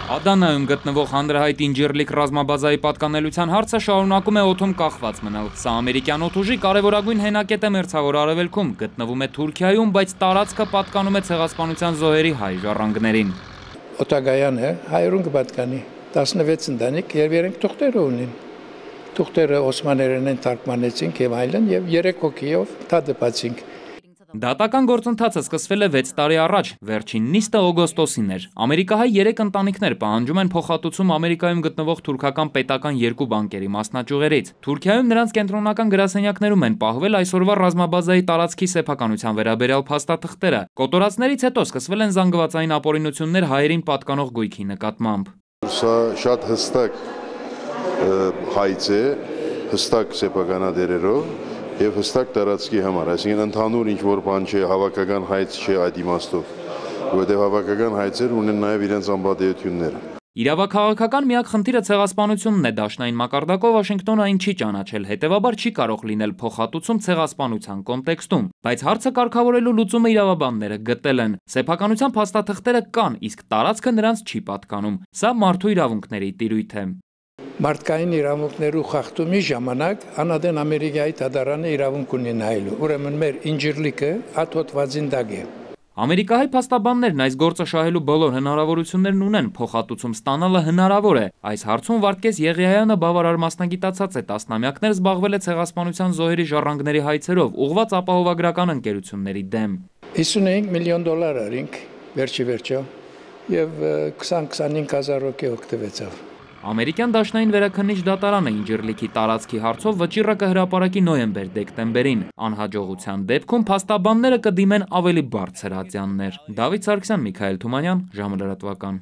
Ադանայում գտնվող հանրահայտ Ինջիրլիկ ռազմաբազայի պատկանելության հարցը շարունակում է օդում կախված մնալ։ Սա ամերիկյան օդուժի կարևորագույն հենակետ է Մերձավոր Արևելքում, գտնվում է Թուրքիայում, բայց տարածքը պատկանում է Ցեղասպանության զոհերի հայ ժառանգներին։ Օտագայան է, հայերուն կպատկանի, 16 ընտանիք եւ 3 թուղթեր ունին։ Թուղթերը օսմաներեն են թարգմանեցինք եւ այլն եւ 3 հոգիով դատապացինք։ Դատական գործընթացը սկսվել է 6 տարի առաջ, վերջին նիստը օգոստոսին էր։ Ամերիկահայ 3 ընտանիքներ պահանջում են փոխհատուցում Ամերիկայում գտնվող թուրքական պետական 2 բանկերի մասնաճյուղերից։ Թուրքիայում նրանց կենտրոնական գրասենյակներում են պահվել այսօրվա ռազմաբազայի տարածքի սեփականության վերաբերյալ փաստաթղթերը։ Կոտորածներից հետո սկսվել են զանգվածային ապօրինություններ հայերին պատկանող գույքի նկատմամբ։ Սա շատ հստակ հայց է, հստակ սեփականատերերով եւ հստակ տարածքի համար, այսինքն ընդհանուր ինչ-որ բան չէ, հավաքական հայց չէ այդ իմաստով, որովհետեւ հավաքական հայցեր ունեն նաեւ իրենց անպատեությունները։ Իրավաքաղաքական միակ խնդիրը ցեղասպանությունն է, դաշնային մակարդակով Վաշինգտոնը այն չի ճանաչել, հետևաբար չի կարող լինել փոխհատուցում ցեղասպանության կոնտեքստում, բայց հարցը կարգավորելու լուծումը իրավաբանները գտել են։ Սեփականության փաստաթղթերը կան, իսկ տարածքը նրանց չի պատկանում։ Սա մարդու իրավունքների տիրույթ է։ Մարդկային իրավունքներու խախտումի ժամանակ անադեն Ամերիկայի դատարանը իրավունք ունի նայելու։ Ուրեմն մեր Ինջիրլիկը աթոթվածին դակ է։ Ամերիկահայ փաստաբաններն այս գործը շահելու բոլոր հնարավորություններն ունեն, փոխհատուցում ստանալը հնարավոր է։ Այս հարցում Վարդգես Եղիայանը բավարար մասնագիտացած է, տասնամյակներ զբաղվել է ցեղասպանության զոհերի ժառանգների հայցերով, ուղղված ապահովագրական ընկերությունների դեմ։ 55 միլիոն դոլար արինք վերջի եւ 20-25 հազար հոգի օգտվեցավ։ Ամերիկյան դաշնային վերաքննիչ դատարանը Ինջիրլիքի տարածքի հարցով վճիռը կհրապարակի նոյեմբեր-դեկտեմբերին։ Անհաջողության դեպքում փաստաբանները կդիմեն ավելի բարձր ատյաններ։ Դավիթ Սարգսյան, Միքայել Թումանյան, ժամը լրատվական։